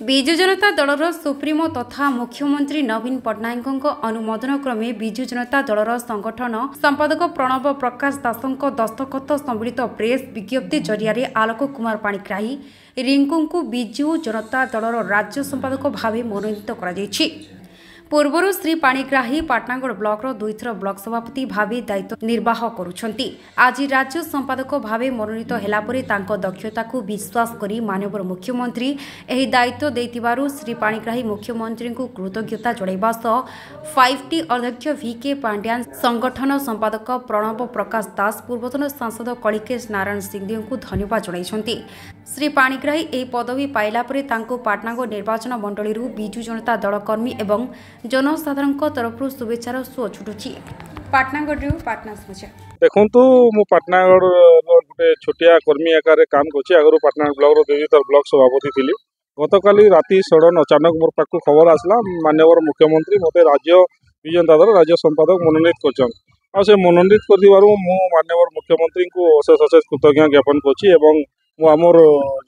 ବିଜୁ ଜନତା ଦଳର ସୁପ୍ରିମୋ ତଥା ମୁଖ୍ୟମନ୍ତ୍ରୀ ନବୀନ ପଟ୍ଟନାୟକଙ୍କ ଅନୁମୋଦନ କ୍ରମେ ବିଜୁ ଜନତା ଦଳର ସଂଗଠନ ସମ୍ପାଦକ ପ୍ରଣବ ପ୍ରକାଶ ଦାସଙ୍କ ଦସ୍ତଖତ ସମ୍ବଳିତ ପ୍ରେସ୍ ବିଜ୍ଞପ୍ତି ଜରିଆରେ ଆଲୋକ କୁମାର ପାଣିଗ୍ରାହୀ ରିଙ୍କୁଙ୍କୁ ବିଜୁ ଜନତା ଦଳର ରାଜ୍ୟ ସମ୍ପାଦକ ଭାବେ ମନୋନୀତ କରାଯାଇଛି। ପୂର୍ବରୁ ଶ୍ରୀ ପାଣିଗ୍ରାହୀ ପାଟଣାଗଡ଼ ବ୍ଲକର ଦୁଇଥର ବ୍ଲକ ସଭାପତି ଭାବେ ଦାୟିତ୍ୱ ନିର୍ବାହ କରୁଛନ୍ତି। ଆଜି ରାଜ୍ୟ ସମ୍ପାଦକ ଭାବେ ମନୋନୀତ ହେଲା ପରେ ତାଙ୍କ ଦକ୍ଷତାକୁ ବିଶ୍ୱାସ କରି ମାନ୍ୟବର ମୁଖ୍ୟମନ୍ତ୍ରୀ ଏହି ଦାୟିତ୍ୱ ଦେଇଥିବାରୁ ଶ୍ରୀ ପାଣିଗ୍ରାହୀ ମୁଖ୍ୟମନ୍ତ୍ରୀଙ୍କୁ କୃତଜ୍ଞତା ଜଣାଇବା ସହ ଫାଇଭ୍ ଟି ଅଧ୍ୟକ୍ଷ ଭି କେ ପାଣ୍ଡିଆନ, ସଂଗଠନ ସମ୍ପାଦକ ପ୍ରଣବ ପ୍ରକାଶ ଦାସ, ପୂର୍ବତନ ସାଂସଦ କଳିକେଶ ନାରାୟଣ ସିଂଦେଓଙ୍କୁ ଧନ୍ୟବାଦ ଜଣାଇଛନ୍ତି। ଶ୍ରୀ ପାଣିଗ୍ରାହୀ ଏହି ପଦବୀ ପାଇଲା ପରେ ତାଙ୍କୁ ପାଟଣାଗଡ଼ ନିର୍ବାଚନ ମଣ୍ଡଳୀରୁ ବିଜୁ ଜନତା ଦଳ କର୍ମୀ ଏବଂ ଜନସାଧାରଣଙ୍କ ତରଫରୁ ଶୁଭେଚ୍ଛାର ସୁଅ ଛୁଟୁଛି। ପାଟଣାଗଡ଼ରୁ ପାଟଣା ସମାଚାର। ଦେଖନ୍ତୁ, ମୁଁ ପାଟଣାଗଡ଼ର ଗୋଟେ ଛୋଟିଆ କର୍ମୀ ଆକାରରେ କାମ କରୁଛି। ଆଗରୁ ପାଟଣାଗଡ଼ ବ୍ଲକର ଦୁଇ ଥର ବ୍ଲକ ସଭାପତି ଥିଲି। ଗତକାଲି ରାତି ସଡ଼ନ ଅଚାନକ ମୋର ପାଖକୁ ଖବର ଆସିଲା, ମାନ୍ୟବର ମୁଖ୍ୟମନ୍ତ୍ରୀ ମୋତେ ରାଜ୍ୟ ବିଜୁ ଜନତା ଦଳ ରାଜ୍ୟ ସମ୍ପାଦକ ମନୋନୀତ କରିଛନ୍ତି। ଆଉ ସେ ମନୋନୀତ କରିଥିବାରୁ ମୁଁ ମାନ୍ୟବର ମୁଖ୍ୟମନ୍ତ୍ରୀଙ୍କୁ ଅଶେଷ ଅଶେଷ କୃତଜ୍ଞ ଜ୍ଞାପନ କରୁଛି ଏବଂ ମୁଁ ଆମର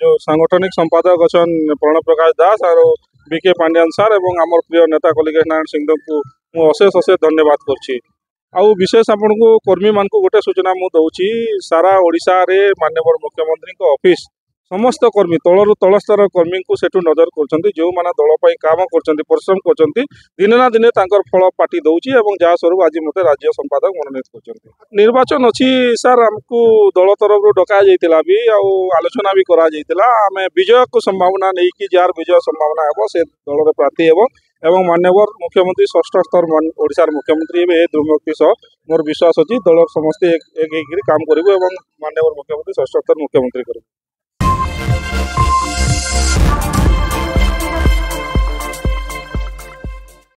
ଯେଉଁ ସାଙ୍ଗଠନିକ ସମ୍ପାଦକ ଅଛନ୍ ପ୍ରଣବ ପ୍ରକାଶ ଦାସ ଆଉ ବି କେ ପାଣ୍ଡିଆନ ସାର୍ ଏବଂ ଆମର ପ୍ରିୟ ନେତା କଳିକେଶ ନାରାୟଣ ସିଂଦେଓଙ୍କୁ ମୁଁ ଅଶେଷ ଅଶେଷ ଧନ୍ୟବାଦ କରୁଛି। ଆଉ ବିଶେଷ ଆପଣଙ୍କୁ କର୍ମୀମାନଙ୍କୁ ଗୋଟେ ସୂଚନା ମୁଁ ଦେଉଛି, ସାରା ଓଡ଼ିଶାରେ ମାନ୍ୟବର ମୁଖ୍ୟମନ୍ତ୍ରୀଙ୍କ ଅଫିସ ସମସ୍ତ କର୍ମୀ, ତଳରୁ ତଳ ସ୍ତର କର୍ମୀଙ୍କୁ ସେଠୁ ନଜର କରୁଛନ୍ତି। ଯେଉଁମାନେ ଦଳ ପାଇଁ କାମ କରୁଛନ୍ତି, ପରିଶ୍ରମ କରୁଛନ୍ତି, ଦିନେ ନା ଦିନେ ତାଙ୍କର ଫଳ ପାଟି ଦେଉଛି ଏବଂ ଯାହା ସ୍ୱରୂପ ଆଜି ମୋତେ ରାଜ୍ୟ ସମ୍ପାଦକ ମନୋନୀତ କରୁଛନ୍ତି। ନିର୍ବାଚନ ଅଛି ସାର୍, ଆମକୁ ଦଳ ତରଫରୁ ଡକା ଯାଇଥିଲା ବି ଆଉ ଆଲୋଚନା ବି କରାଯାଇଥିଲା। ଆମେ ବିଜୟକୁ ସମ୍ଭାବନା ନେଇକି, ଯାହାର ବିଜୟ ସମ୍ଭାବନା ହେବ ସେ ଦଳରେ ପ୍ରାର୍ଥୀ ହେବ ଏବଂ ମାନ୍ୟବର ମୁଖ୍ୟମନ୍ତ୍ରୀ ଷଷ୍ଠ ସ୍ତର ଓଡ଼ିଶାର ମୁଖ୍ୟମନ୍ତ୍ରୀ ହେବେ, ଏ ଦୃଢ଼ୋକ୍ତି ସହ ମୋର ବିଶ୍ୱାସ ଅଛି। ଦଳର ସମସ୍ତେ ଏକ ହେଇକିରି କାମ କରିବୁ ଏବଂ ମାନ୍ୟବର ମୁଖ୍ୟମନ୍ତ୍ରୀ ଷଷ୍ଠ ସ୍ତର ମୁଖ୍ୟମନ୍ତ୍ରୀ କରିବୁ।